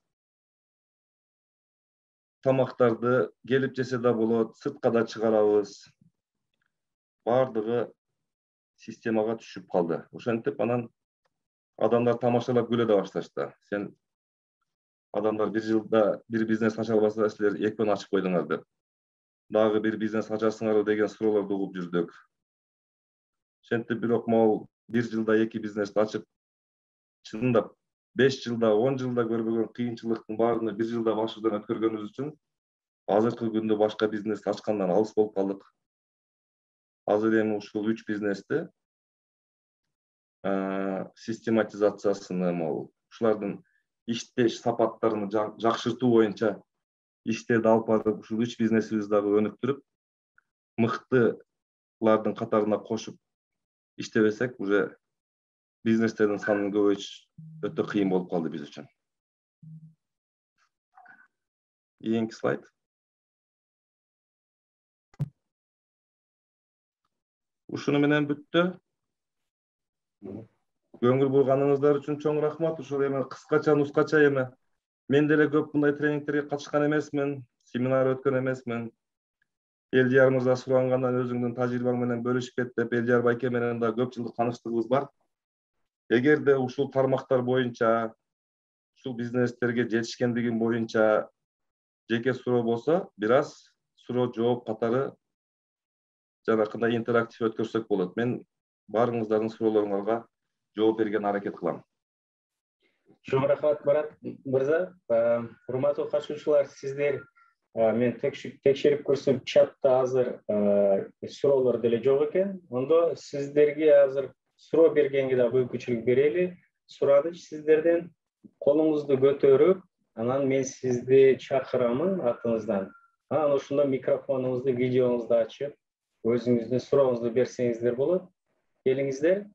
Тамактарды келип жесе да болот, сыртка да чыгарабыз. Бардыгы системага түшүп калды. Ошентип анан адамдар тамашалап күлө да башташты. Сен адамдар бир жылда бир бизнес ача албаса, силер экөөнү ачып койдуңар деп. Дагы бир бизнес ачасыңарбы деген суроолорду угуп жүрдүк. Ошентип бирок могул бир жылда эки бизнести ачып, чындап беш жылда, он жылда көрбөгөн кыйынчылыктын баарын бир жылда башыбыздан өткөргөнүбүз үчүн азыркы күндө башка бизнес ачкандан алыс болуп калдык. Азыр эми ушул үч бизнести систематизациясыны, могул ушулардын иштеш сапаттарын жакшыртуу боюнча иштерди алып барып, ушул үч бизнесибизди дагы өнүктүрүп, мыктылардын катарына кошуп иштебесек, уже бизнестердин санын көбөйтүш өтө кыйын болуп калды биз үчүн. Кийинки слайд. Ушуну менен бүттү. Көңүл бурганыңыздар үчүн чоң рахмат. Ушул эми кыскача нускача эми мен деле көп мындай тренингтерге катышкан эмесмин, семинар өткөн эмесмин. Элдияр мырза сурангандан өзүңдүн тажрыйбаң менен бөлүшүп кет деп, Элдияр байке менен да көп жылдык тааныштыгыбыз бар. Эгерде ушул тармактар боюнча, ушул бизнестерге жетишкендигим боюнча жеке суроо болсо, бир аз суроо жооп катары жанакындай интерактив өткөрсөк болот. Мен баарыңыздардын суроолоруңарга жооп берген аракет кылам.
Чоң рахмат Марат мырза. Урматтуу катышуучулар, сиздер мен текшерип көрсөм, чатта азыр суроолор деле жок экен. Ондо сиздерге азыр суроо бергенге да мүмкүнчүлүк берели. Сураныч сиздерден колуңузду көтөрүп, анан мен сизди чакырамын атыңыздан. Анан ошондо микрофонуңузду, видеоңузду ачып, өзүңүздүн сурооңузду берсеңиздер болот. Келиңиздер.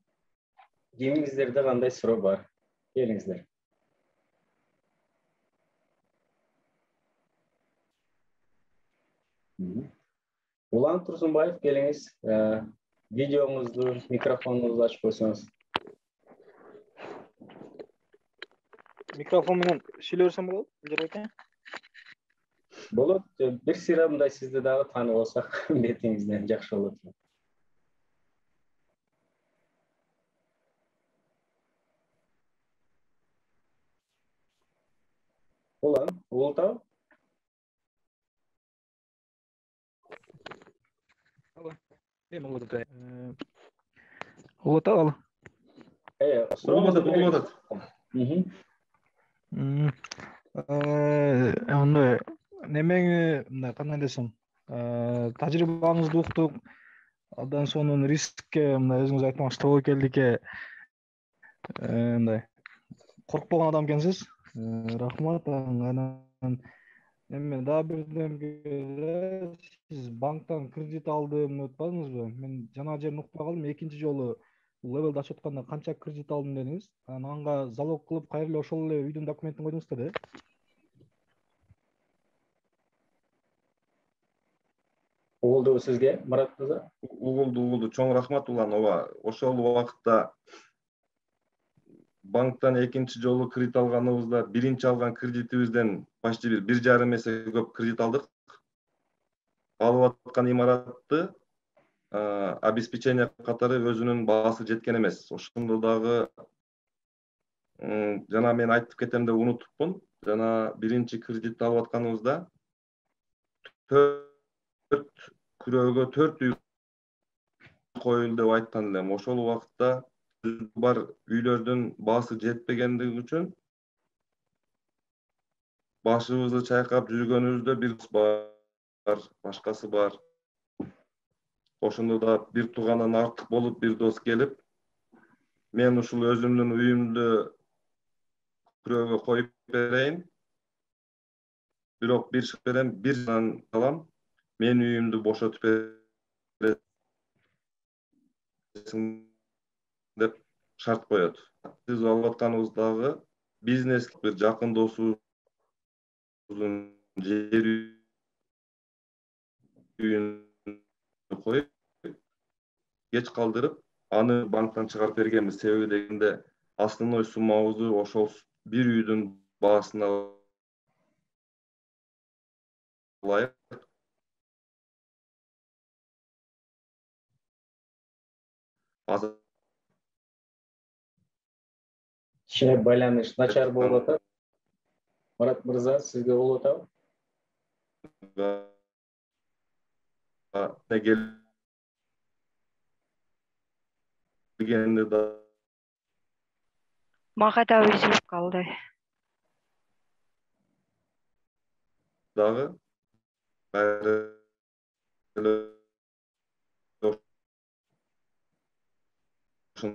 Кимиңиздерде кандай суроо бар? Келиңиздер. Улан Турсунбаев, келиңиз. Видеоңузду, микрофонуңузду ачып койсоңуз.
Микрофон менен сүйлөй берсем болот, Элдияр байке?
Болот. Бир сыйра мындай сизди дагы таанып алсак, бетиңизден жакшы болот. Улан, Ултау?
Алло. Эми болот. Ултау, алло.
Э,
Болот, болот.
Мм.
Э, андай немең мындай кандай десем, тажрыйбаңызды уктук. Абдан сонун рискке мындай өзүңүз айткан тобокелдикке мындай коркпогон адам экенсиз. Рахмат. Анан эми дагы бирдемге сиз банктан кредит алдым деп атпадыңызбы? Мен жана жерин укпай калдым. Экинчи жолу левелди ачып атканда канча кредит алдым дедиңиз? Анан анга залог кылып кайра эле ошол эле үйдүн документин койдуңуз да?
Угулдубу сизге, Марат мырза?
Угулду, угулду. Чоң рахмат Улан. Ооба, ошол убакытта банктан экинчи жолу кредит алганыбызда биринчи алган кредитибизден почти бир бир жарым эсе көп кредит алдык. Алып аткан имаратты обеспечение катары өзүнүн баасы жеткен эмес. Ошондо дагы жана мен айтып кетем деп унутупмун. Жана биринчи кредитти алып атканыбызда төрт күрөөгө төрт үй коюлду деп айткан элем. Ошол убакытта бар үйлөрдүн баасы жетпегендиги үчүн башыбызды чайкап жүргөнүбүздө бир бар, башкасы бар. Ошондо да бир туугандан артык болуп, бир дос келип, мен ушул өзүмдүн үйүмдү күрөөгө коюп берейин. Бирок бир шарт берем, бир жылдан калам, мен үйүмдү бошотуп деп шарт коет. Сиз алып атканыбыздагы бизнес бир жакын досубуздун жер үйүн коюп, кеч калдырып, аны банктан чыгарып бергенбиз. Себеби дегенде основной суммабызды ошол бир үйдүн баасына ылайык азыр
Кичине байланыш начар болуп атат. Марат мырза, сизге болуп атабы?
келгенде да
Мага да үзүлүп калды.
дагы кайра эле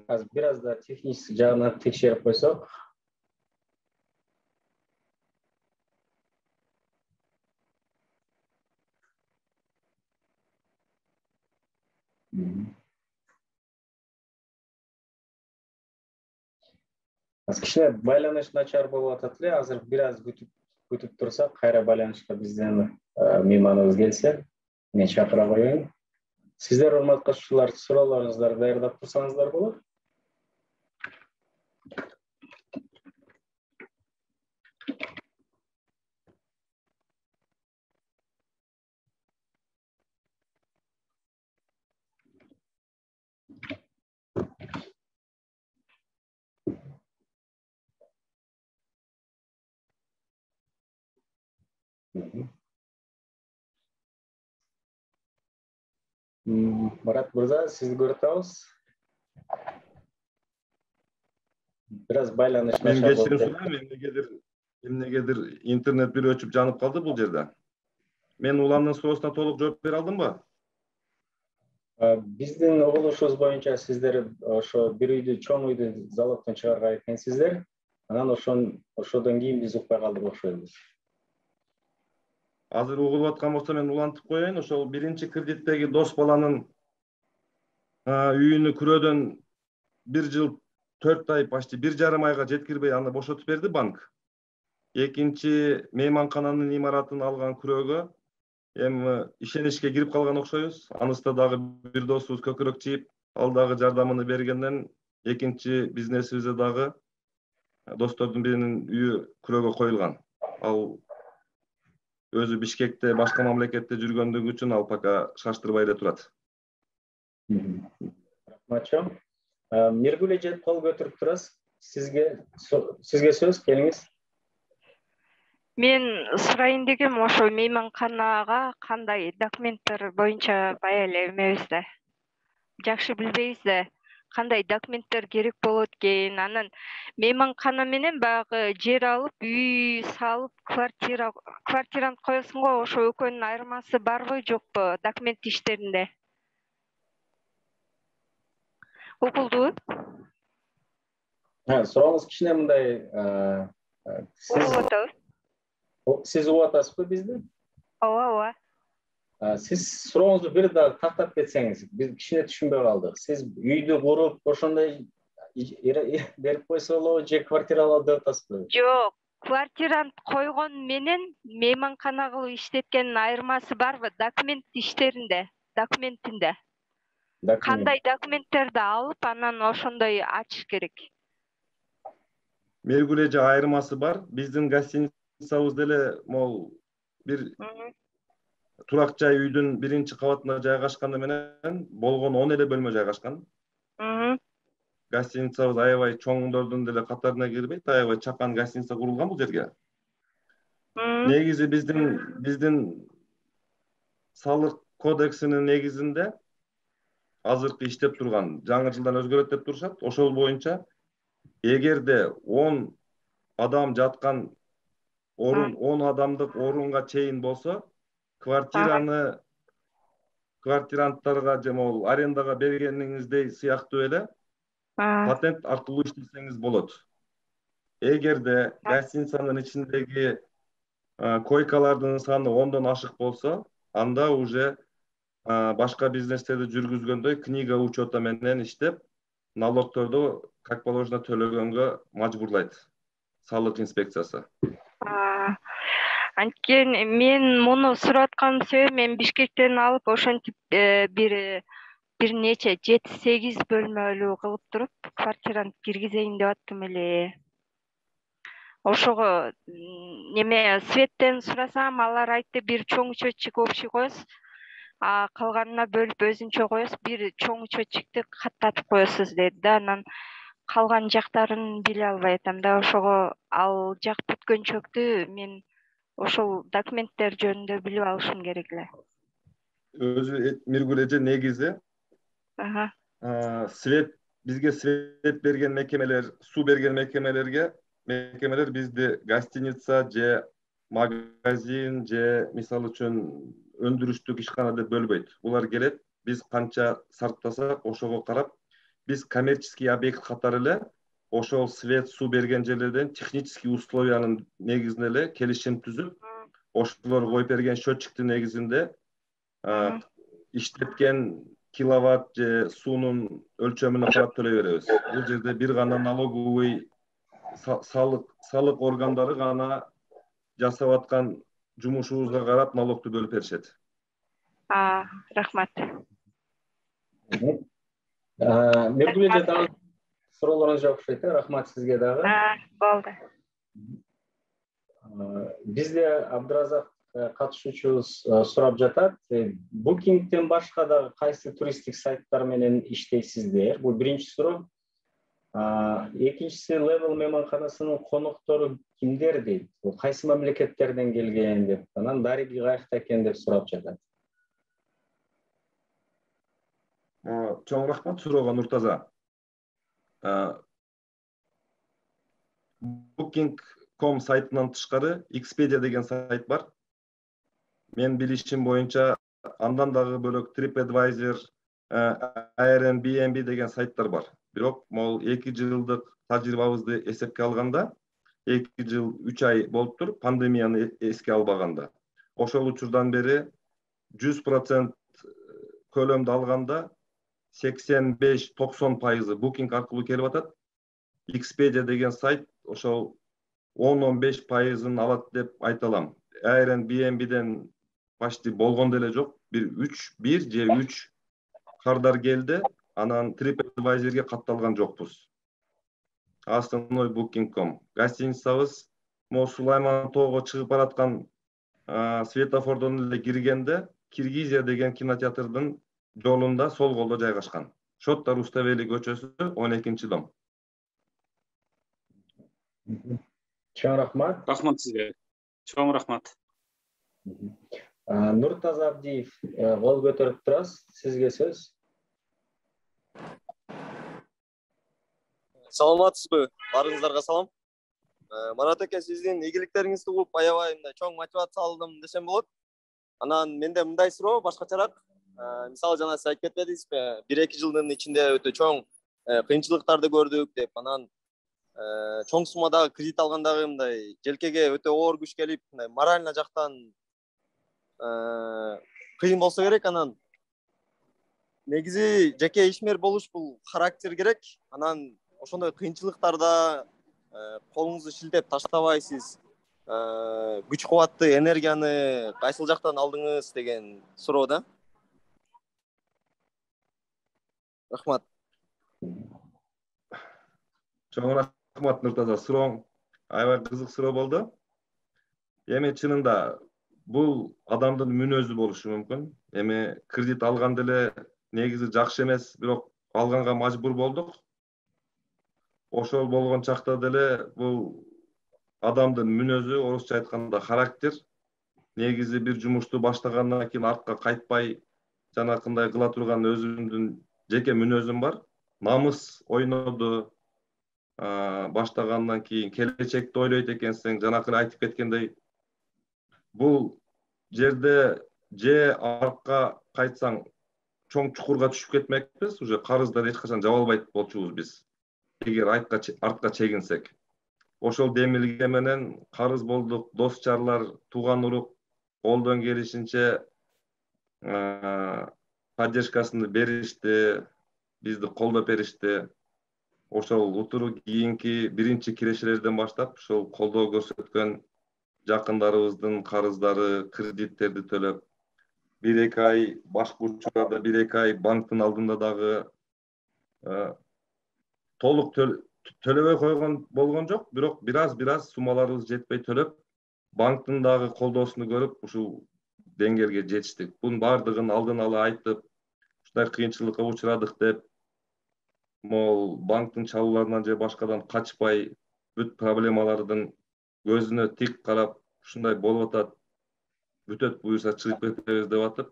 Азыр бир аз да техник жагынан текшерип койсок. Азыр кичине байланыш начар болуп атат эле. Азыр бир аз күтүп күтүп турсак, кайра байланышка бизден мейманыбыз келсе, мен чакыра коеюн. Сиздер урматтуу катышуучулар, суроолоруңуздарды даярдап турсаңыздар болот. Марат мырза, сизди көрүп атабыз. Бир аз байланыш
мен
начар
кечирим
болуп.
сурайм, эмнегедир эмнегедир интернет бир өчүп жанып калды бул жерде. Мен уламдын суроосуна толук жооп бере алдымбы?
Биздин угулушубуз боюнча сиздер ошо бир үйдү, чоң үйдү залогдон чыгарган экенсиздер. Анан ошон ошодон кийин биз укпай калдык окшойбуз.
Азыр угулуп аткан болсо мен улантып коеюн. Ошол биринчи кредиттеги дос баланын үйүнү күрөөдөн бир жыл төрт ай, почти бир жарым айга жеткирбей аны бошотуп берди банк. Экинчи мейманкананын имаратын алган күрөөгө эми ишеничке кирип калган окшойбуз. Анысында дагы бир досубуз көкүрөк чийип, ал дагы жардамын бергенден экинчи бизнесибизде дагы достордун биринин үйү күрөөгө коюлган. Ал өзү Бишкекте, башка мамлекетте жүргөндүгү үчүн ал пока шаштырбай эле турат.
Рахматчы. Миргүл эже кол көтөрүп турасыз. Сизге сизге сөз, келиңиз.
Мен сурайын дегем, ошо мейманканага кандай документтер боюнча бая эле эмебиз да. Жакшы билбейбиз да. Кандай документтер керек болот экен. Анан мейманкана менен баягы жер алып, үй салып, квартира квартирант коесуң го, ошо экөөнүн айырмасы барбы, жокпу документ иштеринде? Укулдубу?
Сурооңуз кичине мындай,
Угулуп атабы?
Сиз угуп атасызбы бизди?
Ооба, ооба.
Сиз сурооңузду бир дагы тактап кетсеңиз, биз кичине түшүнбөй калдык. Сиз үйдү куруп, ошондой берип койсо болобу, же квартира алып деп атасызбы?
Жок, квартирант койгон менен мейманкана кылып иштеткендин айырмасы барбы документ иштеринде, документинде? Кандай документтерди алып, анан ошондой ачыш керек?
Миргүл эже, айырмасы бар. Биздин гостиницабыз деле могул бир турак жай үйдүн биринчи кабатында жайгашканы менен болгону он эле бөлмө жайгашкан. Гостиницабыз аябай чоңдордун деле катарына кирбейт, аябай чакан гостиница курулган бул жерге. Негизи биздин биздин салык кодексинин негизинде азыркы иштеп турган, жаңы жылдан өзгөрөт деп турушат. Ошол боюнча эгерде он адам жаткан орун, он адамдык орунга чейин болсо, квартираны квартиранттарга же могул арендага бергениңиздей сыяктуу эле патент аркылуу иштесеңиз болот. Эгерде гостиницанын ичиндеги койкалардын саны ондон ашык болсо, анда уже башка бизнестерди жүргүзгөндөй книга учета менен иштеп, налогторду как положено төлөгөнгө мажбурлайт салык инспекциясы.
Анткени мен муну сурап атканын себеби мен Бишкектен алып ошентип бир бир нече жети сегиз бөлмөлүү кылып туруп квартираны киргизейин деп аттым эле. Ошого неме светтен сурасам, алар айтты бир чоң счетчик общий коесуз, а калганына бөлүп өзүнчө коесуз, бир чоң счетчикти каттатып коесуз деди да. Анан калган жактарын биле албай атам да. Ошого ал жак бүткөнчөктү мен ошол документтер жөнүндө билип алышым керек эле.
Өзү Миргүл эже негизи свет бизге свет берген мекемелер, суу берген мекемелерге мекемелер бизди гостиница же магазин же мисалы үчүн өндүрүштүк ишкана деп бөлбөйт. Булар келет, биз канча сарптасак ошого карап, биз коммерческий объект катары эле ошол свет, суу берген жерлерден технический условиянын негизинде эле келишим түзүп, ошолор коюп берген счетчиктин негизинде иштеткен киловатт же суунун өлчөмүнө карап төлөй беребиз. Бул жерде бир гана налоговый салык салык органдары гана жасап аткан жумушубузга карап налогду бөлүп беришет.
Рахмат.
Миргүл эже дагы суроолоруңуз жок окшойт. Рахмат сизге дагы.
Болду.
Бизде Абдыразак катышуучубуз сурап жатат. Bookingден башка дагы кайсы туристтик сайттар менен иштейсиздер? Бул биринчи суроо. Экинчиси, Level мейманканасынын коноктору кимдер дейт? Бул кайсы мамлекеттерден келген деп, анан дариги каякта экен деп сурап жатат.
Чоң рахмат суроого, Нуртаза. Booking точка ком сайтынан тышкары Expedia деген сайт бар. Мен билишим боюнча андан дагы бөлөк TripAdvisor, Airbnb деген сайттар бар. Бирок могул эки жылдык тажрыйбабызды эсепке алганда, эки жыл үч ай болуптур, пандемияны эске албаганда. Ошол учурдан бери жүз процент көлөмдү алганда сексен беш токсон пайызы Booking аркылуу келип атат. Expedia деген сайт ошол он он беш пайызын алат деп айта алам. Airbnbден почти болгон деле жок. Бир үч, бир же үч кардар келди. Анан TripAdvisor'ге катталган жокпуз. Основной Booking точка ком. Гостиницабыз Мо Сулайман тоого чыгып бараткан светофордон эле киргенде Киргизия деген кинотеатрдын жолунда сол колдо жайгашкан. Шоттар Уставели көчөсү он экинчи дом.
Чоң рахмат.
Рахмат сизге. Чоң рахмат.
Нуртаза Абдиев, кол көтөрүп турасыз. Сизге сөз.
Саламатсызбы? Барыңыздарга салам. Марат эке, сиздин ийгиликтериңизди угуп, аябай мындай чоң мотивация алдым десем болот. Анан менде мындай суроо башкачараак. Мисалы жана сиз айтып кетпедиңизби? бир эки жылдын ичинде өтө чоң кыйынчылыктарды көрдүк деп, анан чоң суммадагы кредит алгандагы мындай желкеге өтө оор күч келип, мындай морально жактан кыйын болсо керек. Анан негизи жеке ишмер болуш бул характер керек. Анан ошондой кыйынчылыктарда колуңузду шилтеп таштабайсыз, күч кубатты, энергияны кайсыл жактан алдыңыз деген суроо да. Рахмат.
Чоң рахмат, Нуртаза. Сурооң аябай кызык суроо болду. Эми чынында бул адамдын мүнөзү болушу мүмкүн. Эми кредит алганда эле негизи жакшы эмес, бирок алганга мажбур болдук. Ошол болгон чакта деле бул адамдын мүнөзү, орусча айтканда характер. Негизи бир жумушту баштагандан кийин артка кайтпай, жанакындай кыла турган өзүмдүн жеке мүнөзүм бар. Намыс ойноду. Баштагандан кийин келечекти ойлойт экенсиң, жанакы айтып кеткендей, бул жерде же артка кайтсаң чоң чукурга түшүп кетмекпиз, уже карыздар эч качан жаба албайт болчубуз биз. Эгер артка чегинсек. Ошол демилге менен карыз болдук, дос жарлар, тууган урук колдон келишинче поддержкасын беришти, бизди колдоп беришти. Ошол утуру кийинки биринчи кирешелерден баштап ошол колдоо көрсөткөн жакындарыбыздын карыздары, кредиттерди төлөп, бир эки ай башкы учурларда бир эки ай банктын алдында дагы толук төлөбөй койгон болгон жок, бирок бир аз бир аз суммаларыбыз жетпей төлөп, банктын дагы колдоосуну көрүп, ушул деңгээлге жетиштик. Бунун бардыгын алдын ала айтып, ушундай кыйынчылыкка учурадык деп, могул банктын чалууларынан же башкадан качпай, бүт проблемалардын көзүнө тик карап, ушундай болуп атат, бүтөт буюрса чыгып кетебиз деп атып,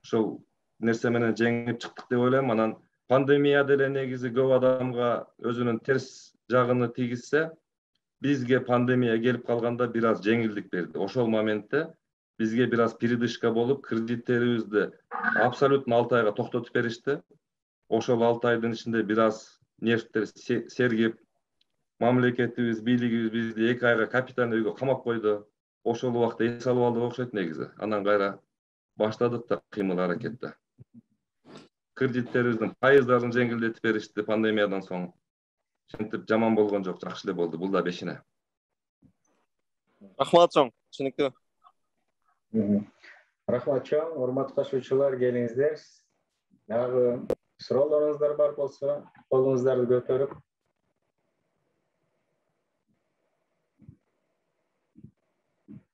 ошол нерсе менен жеңип чыктык деп ойлойм. Анан пандемия деле негизи көп адамга өзүнүн терс жагын тийгизсе, бизге пандемия келип калганда бир аз жеңилдик берди. Ошол моментте бизге бир аз передышка болуп, кредиттерибизди абсолютно алты айга токтотуп беришти. Ошол алты айдын ичинде бир аз нервтер сергип, мамлекетибиз, бийлигибиз бизди эки айга капитальный өйгө камап койду. Ошол убакта эс алып алдык окшойт негизи. Анан кайра баштадык да кыймыл аракетти. Кредиттерибиздин пайыздарын жеңилдетип беришти пандемиядан соң. Ошентип жаман болгон жок, жакшы эле болду. Бул да бешине.
Рахмат чоң, түшүнүктүү.
Рахмат чоң, урматтуу катышуучулар, келиңиздер. Дагы суроолоруңуздар бар болсо, колуңуздарды көтөрүп.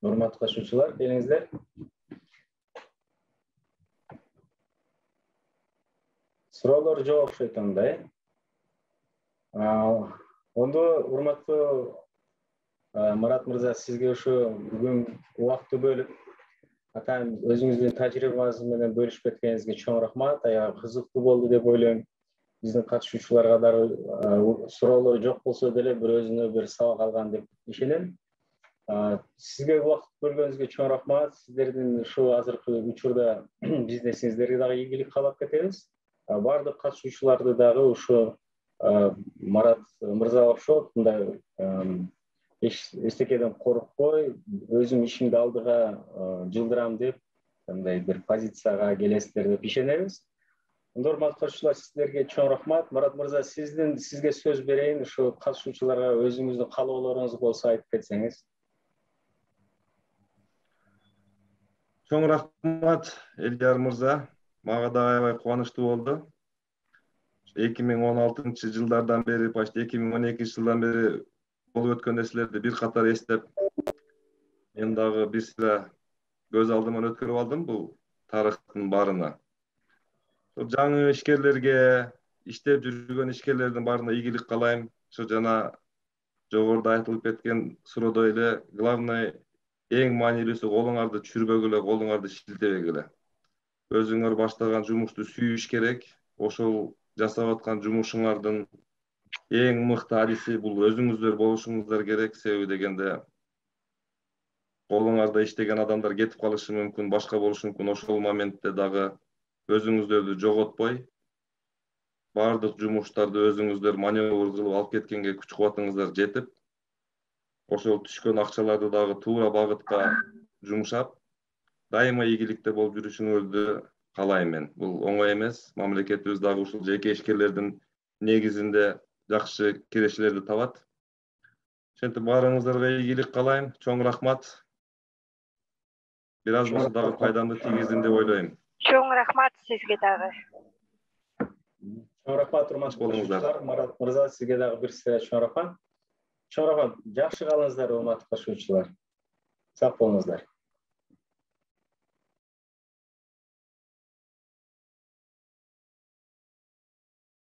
Урматтуу катышуучулар, келиңиздер. Суроолор жок окшойт анда, э? Ондо урматтуу Марат мырза, сизге ушу бүгүн убакытты бөлүп, атайын өзүңүздүн тажрыйбаңыз менен бөлүшүп кеткениңизге чоң рахмат. Аябай кызыктуу болду деп ойлойм. Биздин катышуучуларга дагы суроолор жок болсо деле бир өзүнө бир сабак алган деп ишенем. Сизге убакыт бөлгөнүңүзгө чоң рахмат. Сиздердин ушу азыркы учурда бизнесиңиздерге дагы ийгилик каалап кетебиз. Бардык катышуучуларды дагы ушу Марат мырзага окшоп, мындай эчтекеден коркпой, өзүм ишимди алдыга жылдырам деп, мындай бир позицияга келесиздер деп ишенебиз. Урматтуу катышуучулар, сиздерге чоң рахмат. Марат мырза, сиздин сизге сөз берейин, ушу катышуучуларга өзүңүздүн каалоолоруңуз болсо айтып кетсеңиз.
Чоң рахмат, Элдияр мырза. Мага да аябай кубанычтуу болду. эки миң он алтынчы жылдардан бери, почти эки миң он экинчи жылдан бери болуп өткөн нерселерди бир катар эстеп, мен дагы бир сыйра көз алдыман өткөрүп алдым бул тарыхтын баарына. Жаңы ишкерлерге, иштеп жүргөн ишкерлердин баарына ийгилик каалайм. Ошо жана жогоруда айтылып кеткен суроодой эле, главный эң маанилүүсү колуңарды чүрбөгүлө, колуңарды шилтебегиле. Өзүңөр баштаган жумушту сүйүш керек. Ошол жасап аткан жумушуңардын эң мыкты адиси бул өзүңүздөр болушуңуздар керек. Себеби дегенде колуңарда иштеген адамдар кетип калышы мүмкүн, башка болушу мүмкүн. Ошол моментте дагы өзүңүздөрдү жоготпой, бардык жумуштарды өзүңүздөр маневр кылып алып кеткенге күч кубатыңыздар жетип, ошол түшкөн акчаларды дагы туура багытка жумшап, дайыма ийгиликте болуп жүрүшүңөрдү каалайм мен. Бул оңой эмес. Мамлекетибиз дагы ушул жеке ишкерлердин негизинде жакшы кирешелерди табат. Ошентип баарыңыздарга ийгилик каалайм. Чоң рахмат. Бир аз болсо дагы пайдамды тийгиздим деп ойлойм.
Чоң рахмат сизге дагы.
Чоң рахмат, урматтуу катышуучулар. Марат мырза, сизге дагы бир сыйра чоң рахмат. Чоң рахмат. Жакшы калыңыздар, урматтуу катышуучулар. Сак болуңуздар.